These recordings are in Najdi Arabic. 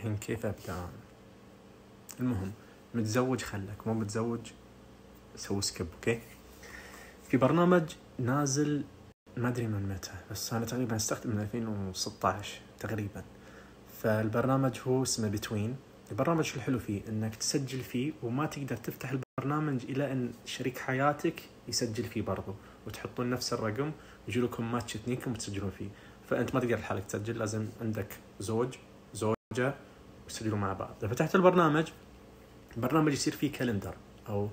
الحين كيف أبدأ. المهم متزوج خلك، مو متزوج سوي سكيب. أوكي، في برنامج نازل ما أدري من متى، بس أنا تقريبا استخدم من 2016 تقريبا. فالبرنامج هو اسمه بتوين. البرنامج الحلو فيه إنك تسجل فيه وما تقدر تفتح البرنامج إلى أن شريك حياتك يسجل فيه برضو، وتحطون نفس الرقم ويجيلكم ماتش اثنينكم وتسجلون فيه. فأنت ما تقدر لحالك تسجل، لازم عندك زوجة وتسجلوا مع بعض. إذا فتحت البرنامج يصير فيه كالندر أو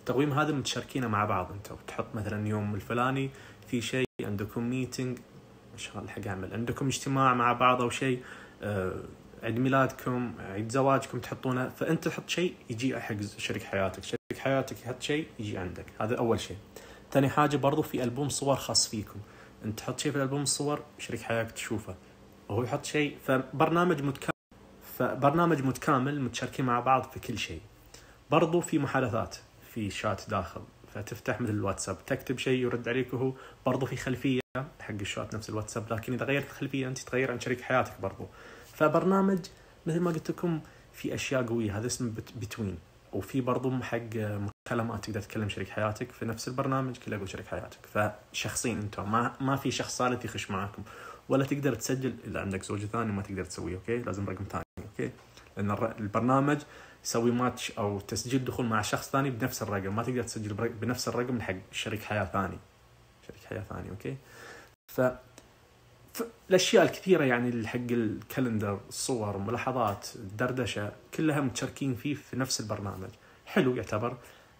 تقويم هذا متشاركينه مع بعض. أنت وتحط مثلا يوم الفلاني في شيء عندكم ميتنج، شغال حق عمل، عندكم اجتماع مع بعض أو شيء، عيد ميلادكم، عيد زواجكم تحطونه. فأنت تحط شيء يجي حق شريك حياتك يحط شيء يجي عندك. هذا أول شيء. ثاني حاجة برضو في ألبوم صور خاص فيكم، أنت تحط شيء في الألبوم الصور شريك حياتك تشوفه، وهو يحط شيء. فبرنامج متكامل متشاركين مع بعض في كل شيء. برضو في محادثات، في شات داخل، فتفتح مثل الواتساب تكتب شيء يرد عليك وهو. برضو في خلفية حق الشات نفس الواتساب، لكن إذا غيرت الخلفية أنت تغير عن شريك حياتك برضو. فبرنامج مثل ما قلت لكم في أشياء قوية، هذا اسمه بتوين. وفي برضو حق مكالمات تقدر تكلم شريك حياتك في نفس البرنامج، كله يقول شريك حياتك. فشخصين أنتم، ما في شخص ثالث يخش معاكم، ولا تقدر تسجل إذا عندك زوج ثاني ما تقدر تسويه. أوكي، لازم رقم ثاني. أوكي، لأن البرنامج يسوي ماتش أو تسجيل دخول مع شخص ثاني بنفس الرقم، ما تقدر تسجل بنفس الرقم حق شريك حياة ثاني. أوكي، الأشياء الكثيرة يعني حق الكالندر، الصور، ملاحظات، الدردشة، كلها متشاركين فيه في نفس البرنامج. حلو يعتبر.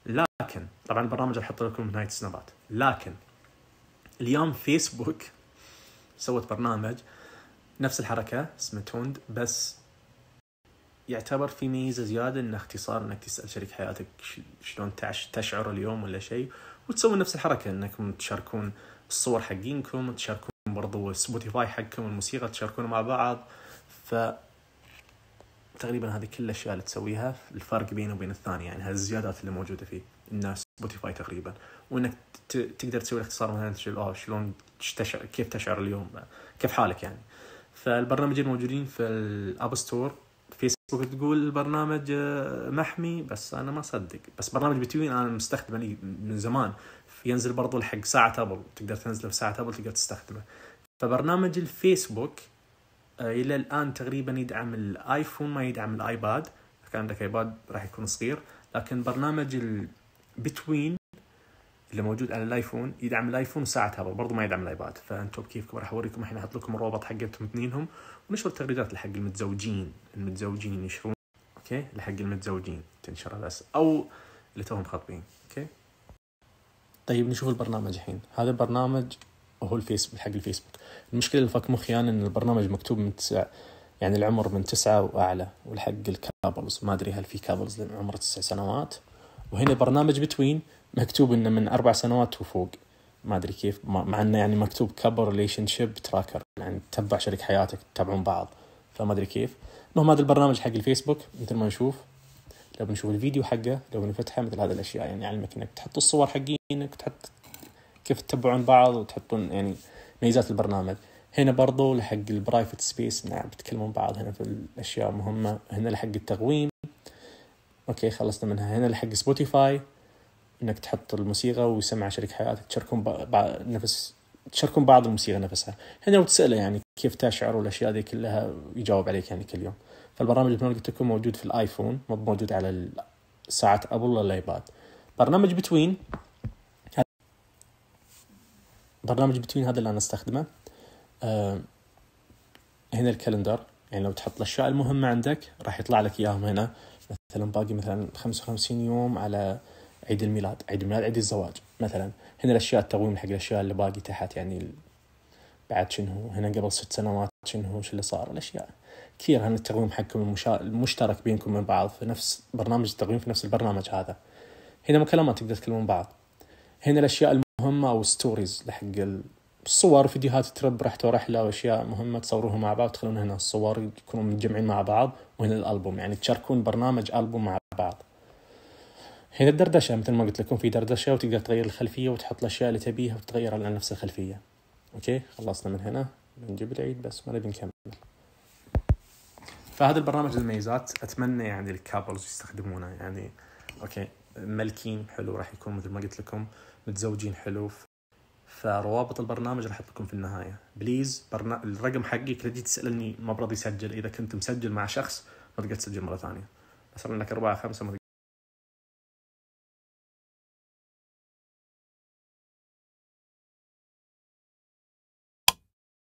لكن طبعا البرنامج أحط لكم نهاية السنابات. لكن اليوم فيسبوك سوت برنامج نفس الحركة اسمه توند، بس يعتبر في ميزة زيادة، إنه اختصار إنك تسأل شريك حياتك شلون تشعر اليوم ولا شيء، وتسوي نفس الحركة إنكم تشاركون الصور حقينكم، تشاركون برضو سبوتيفاي حقكم، الموسيقى تشاركون مع بعض. فتقريبا هذه كل الأشياء اللي تسويها. الفرق بينه وبين الثاني يعني هالزيادات اللي موجودة فيه إنه سبوتيفاي تقريبا، وإنك تقدر تسوي الاختصار مثلا شلون كيف تشعر اليوم، كيف حالك يعني. فالبرنامجين موجودين في الأب ستور. فيسبوك تقول البرنامج محمي، بس أنا ما صدق. بس برنامج بتوين أنا مستخدمه من زمان، ينزل برضو الحق ساعة أبل، تقدر تنزله في ساعة أبل تقدر تستخدمه. فبرنامج الفيسبوك إلى الآن تقريبا يدعم الآيفون، ما يدعم الآيباد. كان عندك آيباد راح يكون صغير، لكن برنامج البتوين اللي موجود على الآيفون يدعم الآيفون وساعة أبل، برضو ما يدعم الآيباد. فأنتم كيفكم راح أوريكم الحين، أحط لكم الروابط حقتهم اثنينهم، ونشر التغريدات لحق المتزوجين ينشرون. أوكي، لحق المتزوجين تنشر بس، أو اللي توهم خاطبين. أوكي، طيب نشوف البرنامج الحين. هذا البرنامج وهو الفيسبوك، حق الفيسبوك. المشكلة اللي فك مخي أنا إن البرنامج مكتوب من 9، يعني العمر من 9 وأعلى، والحق الكابلز ما أدري هل في كابلز عمره 9 سنوات. وهنا برنامج بتوين مكتوب إنه من 4 سنوات وفوق، ما أدري كيف، مع إنه يعني مكتوب كابل ريليشنشيب تراكر، يعني تتبع شريك حياتك، تتابعون بعض، فما أدري كيف. المهم هذا البرنامج حق الفيسبوك مثل ما نشوف. لو بنشوف الفيديو حقه، لو بنفتحه، مثل هذه الأشياء يعني علمك إنك تحط الصور حقينك، تحط كيف تتبعون بعض، وتحطون يعني ميزات البرنامج. هنا برضو لحق البرايفت سبيس، نعم بتكلمون بعض هنا في الأشياء مهمة. هنا لحق التقويم، أوكي خلصنا منها. هنا لحق سبوتيفاي، إنك تحط الموسيقى ويسمع شريك حياتك، تشاركون بعض الموسيقى نفسها. هنا لو تسأله يعني كيف تشعر والأشياء دي كلها يجاوب عليك يعني كل يوم. فالبرنامج اللي قلت لكم موجود في الآيفون، مو موجود على ساعة أبل ولا الآيباد. برنامج بتوين هذا اللي أنا استخدمه. هنا الكالندر، يعني لو تحط الأشياء المهمة عندك راح يطلع لك إياهم هنا. مثلا باقي مثلا 55 يوم على عيد الميلاد، عيد الزواج مثلا. هنا الأشياء التقويم حق الأشياء اللي باقي تحت، يعني بعد شنو، هنا قبل 6 سنوات شنو اللي صار، الأشياء كثير. هنا التقويم حقكم المشترك بينكم من بعض في نفس برنامج التقويم، في نفس البرنامج هذا. هنا مكالمات تقدر تكلمون بعض. هنا الأشياء المهمة أو ستوريز لحق الصور، فيديوهات ترب، رحتوا رحلة وأشياء مهمة تصوروها مع بعض، تخلون هنا الصور يكونوا متجمعين مع بعض. وهنا الألبوم، يعني تشاركون برنامج ألبوم مع بعض. هنا الدردشة، مثل ما قلت لكم في دردشة، وتقدر تغير الخلفية وتحط الأشياء اللي تبيها وتغير على نفس الخلفية. أوكي خلصنا من هنا، بنجيب العيد بس ما نبي نكمل. فهذا البرنامج الميزات أتمنى يعني الكابلز يستخدمونه. يعني أوكي ملكين حلو راح يكون مثل ما قلت لكم، متزوجين حلو، فروابط البرنامج راح أحط لكم في النهاية. بليز الرقم حقي كل تسألني ما برضي يسجل، إذا كنت مسجل مع شخص ما تقدر تسجل مرة ثانية، بس لأنك 4 5